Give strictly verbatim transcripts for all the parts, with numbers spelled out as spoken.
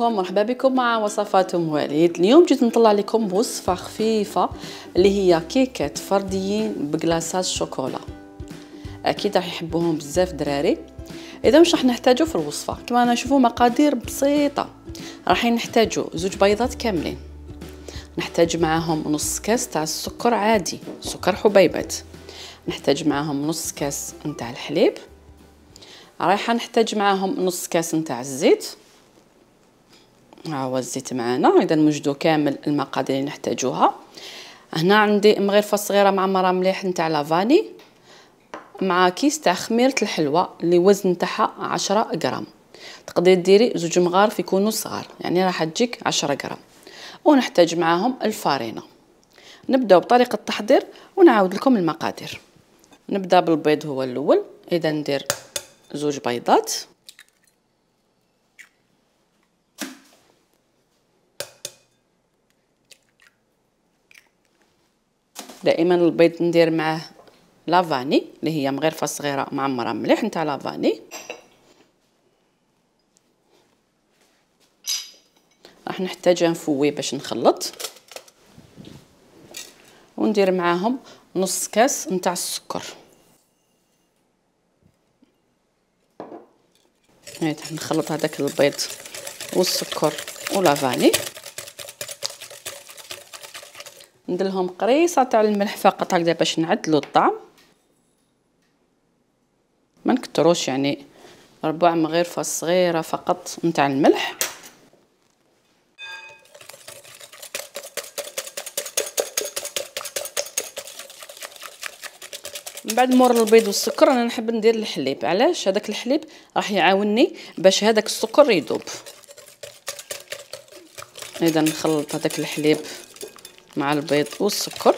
عليكم، مرحبا بكم مع وصفات ام وليد. اليوم جيت نطلع لكم بوصفه خفيفه اللي هي كيكات فرديين بكلاصات الشوكولا. اكيد راح يحبوهم بزاف دراري. اذا واش راح نحتاجو في الوصفه؟ كما نشوفوا مقادير بسيطه. راح نحتاجو زوج بيضات كاملين، نحتاج معاهم نص كاس تاع السكر عادي، سكر حبيبات، نحتاج معاهم نص كاس نتاع الحليب، رايحه نحتاج معاهم نص كاس نتاع الزيت. ها هو الزيت معانا. اذا نوجدوا كامل المقادير اللي نحتاجوها. هنا عندي مغرفه صغيره معمره مليح نتاع لافاني، مع كيس تاع خميره الحلوى اللي وزن تاعها عشرة غرام. تقدري ديري زوج مغارف يكونوا صغار، يعني راح تجيك عشرة غرام. ونحتاج معاهم الفارينه. نبداو بطريقه التحضير ونعاود لكم المقادير. نبدا بالبيض هو الاول. اذا ندير زوج بيضات، دائما البيض ندير معاه لافاني اللي هي مغرفه صغيره معمره مليح نتاع لافاني. راح نحتاج نفوي باش نخلط، وندير معاهم نص كاس نتاع السكر. هاي نخلط هذاك البيض والسكر ولافاني. ندير لهم قريصه تاع الملح فقط هكذا باش نعدلوا الطعم، ما نكتروش، يعني ربع مغرفه صغيره فقط نتاع الملح. من بعد مور البيض والسكر انا نحب ندير الحليب. علاش؟ هذاك الحليب راح يعاونني باش هذاك السكر يذوب. اذا نخلط هذاك الحليب مع البيض والسكر،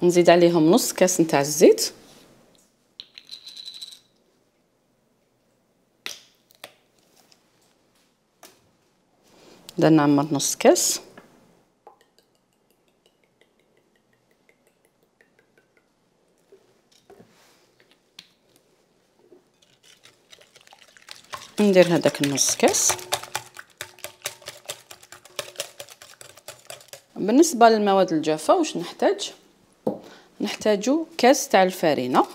نزيد عليهم نص كاس نتاع الزيت، بدنا نعمر نص كاس، ندير هذاك النص كاس. بالنسبه للمواد الجافه واش نحتاج؟ نحتاجو كاس تاع الفارينه.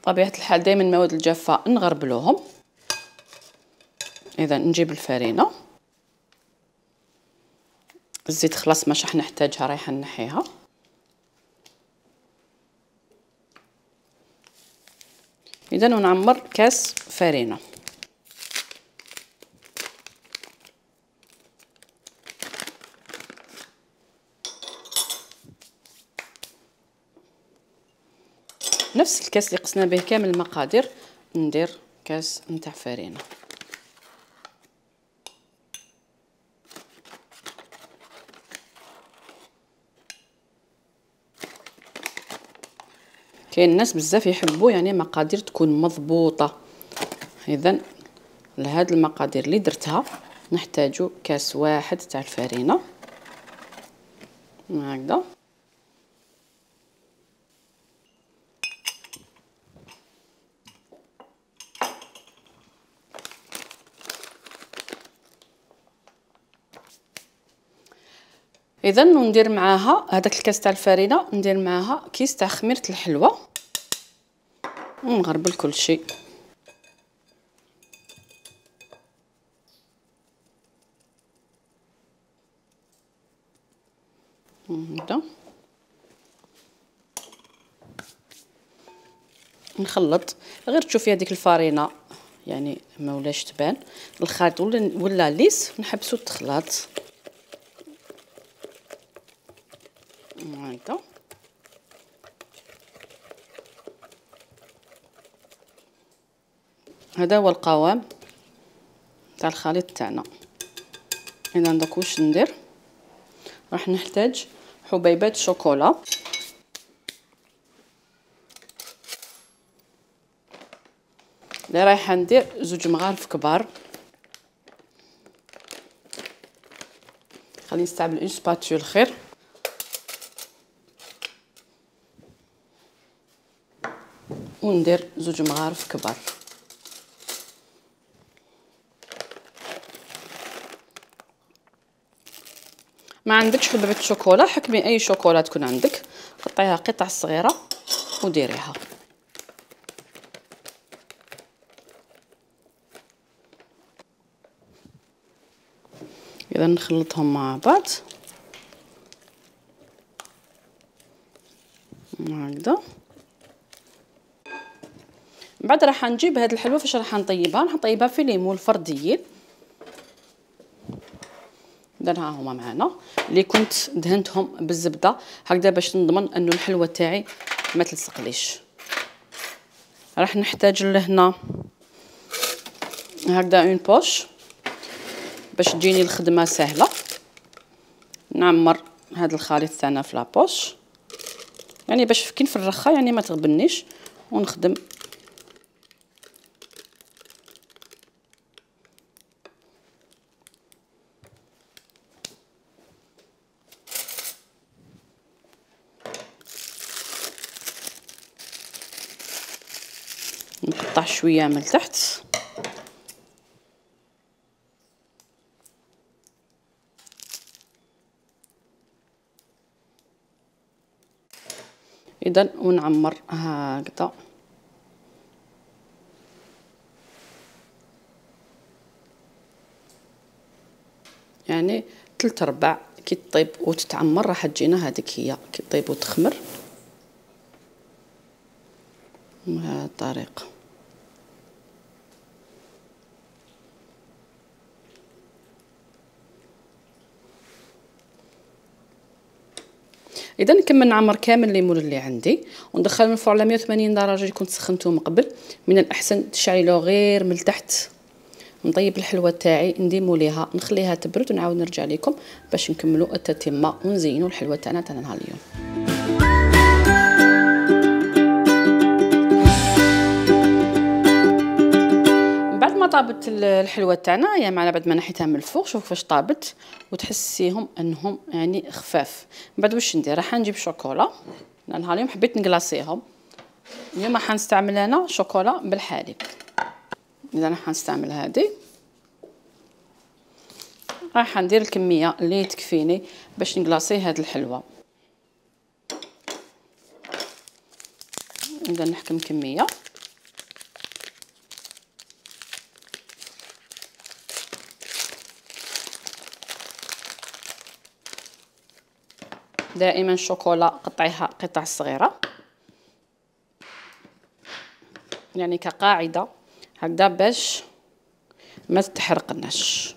طبيعه الحال دائما المواد الجافه نغربلوهم. اذا نجيب الفارينه، الزيت خلاص ماش راح نحتاجها، رايحه نحيها. اذا ونعمر كاس فارينه. نفس الكاس اللي قسنا به كامل المقادير ندير كاس نتاع فارينه. كاين الناس بزاف يحبوا يعني مقادير تكون مضبوطه. اذا لهاد المقادير اللي درتها نحتاجو كاس واحد تاع الفارينه هكذا. اذا وندير معاها هذاك الكاس تاع الفارينه، ندير معاها كيس تاع خميره الحلوى ونغربل كل شيء. هكذا نخلط. غير تشوفي هذيك الفارينه يعني ما ولاش تبان الخليط ولا ولا ليس، نحبسوا التخلاط هكذا. هذا هو القوام تاع الخليط تاعنا. اذا دوك واش ندير؟ راح نحتاج حبيبات شوكولا. اللي رايحه ندير زوج مغارف كبار. خليني نستعمل اون سباتول خير. وندير زوج مغارف كبار. ما عندكش حبيبه شوكولا حكمي اي شوكولا تكون عندك، قطعيها قطع صغيره وديريها. اذا نخلطهم مع بعض هكذا. من بعد راح نجيب هاد الحلوه فاش راح نطيبها، راح نطيبها في ليمون فرديين. اذا ها هما معنا اللي كنت دهنتهم بالزبده هكذا باش نضمن انه الحلوه تاعي ما تلصقليش. راح نحتاج لهنا هكذا اون بوش باش تجيني الخدمه سهله. نعمر هذا الخليط تاعنا في لابوش يعني باش كي نفرخها يعني ما تغبنيش ونخدم. نقطع شويه من تحت. اذا ونعمر هكذا يعني ثلاث ارباع كي تطيب وتتعمر راح تجينا هذيك هي كي تطيب وتخمر بهذه الطريقه. اذا نكمل نعمر كامل الليمون اللي عندي وندخل من الفرن على مية وثمانين درجه اللي كنت سخنته من قبل. من الاحسن تشعلوه غير من التحت. نطيب الحلوه تاعي نديمو ليها نخليها تبرد ونعاود نرجع لكم باش نكملوا التتمه ونزينوا الحلوه تاعنا تاع نهار اليوم. بعد ما طابت الحلوه تاعنا يا معنا بعد ما نحيتها من الفوق شوف كيفاش طابت وتحسيهم انهم يعني خفاف. من بعد واش ندير راح نجيب شوكولا. نهار اليوم حبيت نقلاصيهم. اليوم راح نستعمل انا شوكولا بالحليب. اذا راح نستعمل هذه راح ندير الكميه اللي تكفيني باش نقلاصي هذه الحلوه. نبدا نحكم كميه دائما شوكولا قطعيها قطع صغيره يعني كقاعده هكذا باش ما تتحرقناش.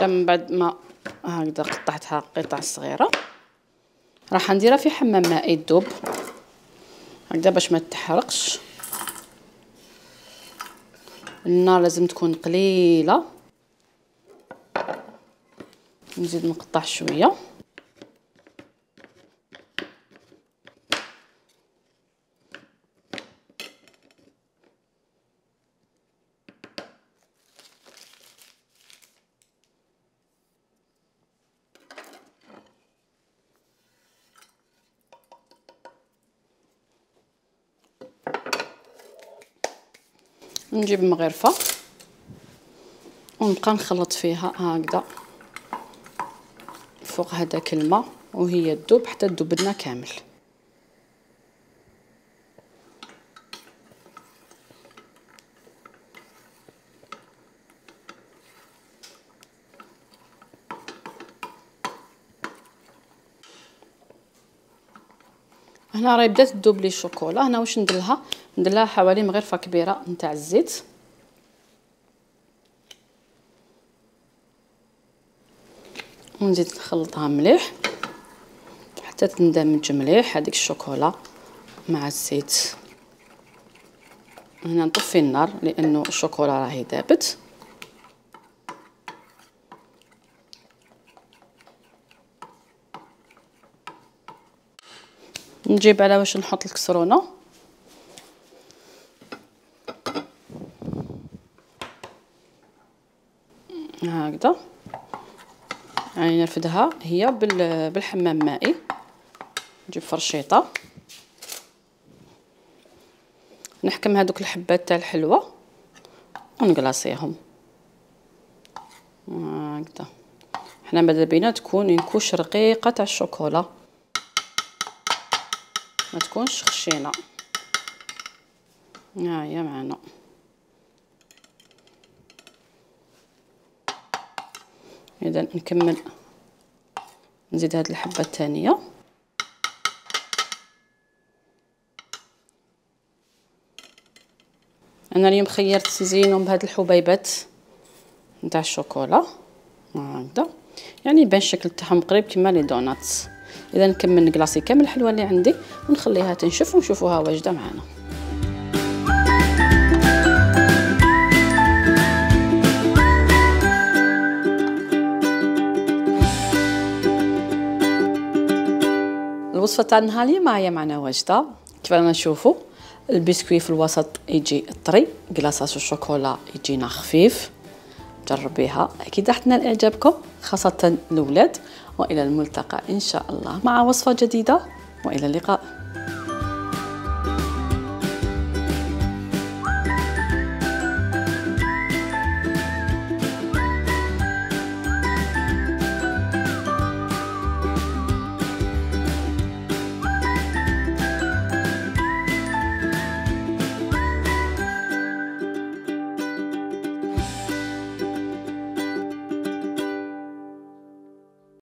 من بعد ما هكذا قطعتها قطع صغيره راح نديرها في حمام مائي تذوب هكذا باش ما تتحرقش. النار لازم تكون قليله. نزيد نقطع شويه نجيب مغرفه ونبقى نخلط فيها هكذا فوق هذاك الماء وهي تذوب حتى تذوب لنا كامل. هنا راهي بدات تذوب لي الشوكولا. هنا واش نديرلها نديرلها حوالي مغرفه كبيره نتاع الزيت ونزيد نخلطها مليح حتى تندمج مليح هذيك الشوكولا مع الزيت. هنا نطفي النار لانه الشوكولا راهي ذابت. نجيب على واش نحط الكسرونه هكذا يعني نرفدها هي بالحمام مائي نجيب فرشيطه نحكم هذوك الحبات تاع الحلوه ونقلاصيهم هكذا. حنا ماذا بينا تكون ينكوش رقيقه تاع الشوكولا، ما تكونش خشينه. ها هي معنا. اذا نكمل نزيد هذه الحبه الثانيه. انا اليوم خيرت نزينهم بهاد الحبيبات نتاع الشوكولا هكذا، يعني يبان الشكل تاعهم قريب كيما لي دوناتس. اذا نكمل نكلاصي كامل الحلوه اللي عندي ونخليها تنشف ونشوفوها واجده معنا. الوصفه تاع النهار اليوم هي معنا واجده. كيف رانا نشوفوا البسكويت في الوسط يجي طري، كلاصاج الشوكولا يجينا خفيف. جربيها اكيد راح تنال اعجابكم خاصه الاولاد. والى الملتقى ان شاء الله مع وصفه جديده والى اللقاء.